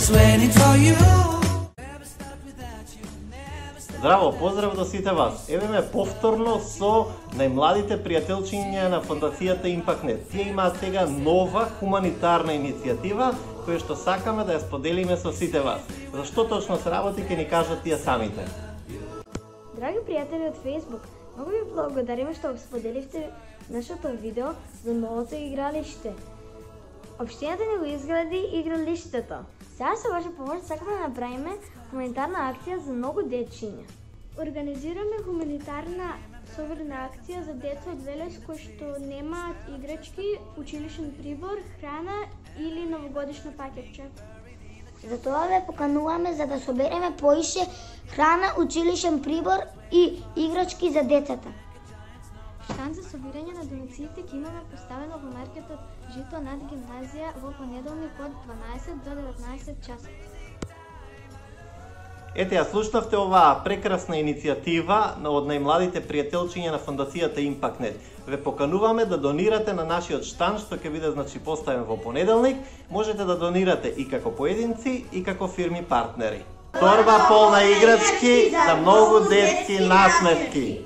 just waiting for you. Здраво, поздрав до сите вас. Еве ме повторно со најмладите пријателчиња на фондацијата Импактнет. Тие имаат сега нова хуманитарна иницијатива која што сакаме да ја споделиме со сите вас. Зашто точно се работи ќе ни кажат тие самите. Драги пријатели од Facebook, многу ви благодариме што споделивте нашето видео за новото игралиште. Општината ни го изгради игралиштето. Сега со ваша помош сакаме да направиме хуманитарна акција за многу дечиња. Организираме хуманитарна соборна акција за деца од Велес кои што немаат играчки, училишен прибор, храна или новогодишно пакетче. Затоа ве покануваме за да собереме поише храна, училишен прибор и играчки за децата. Штанд за собирање на донациите ќе имаме поставено во маркетот Жито над гимназија во понеделник од 12 до 19 часот. Ете, ја слушнавте оваа прекрасна иницијатива од најмладите пријателчиња на фондацијата Импактнет. Ве покануваме да донирате на нашиот штанд што ќе биде поставен во понеделник. Можете да донирате и како поединци и како фирми партнери. Торба полна играчки за многу детски насмевки.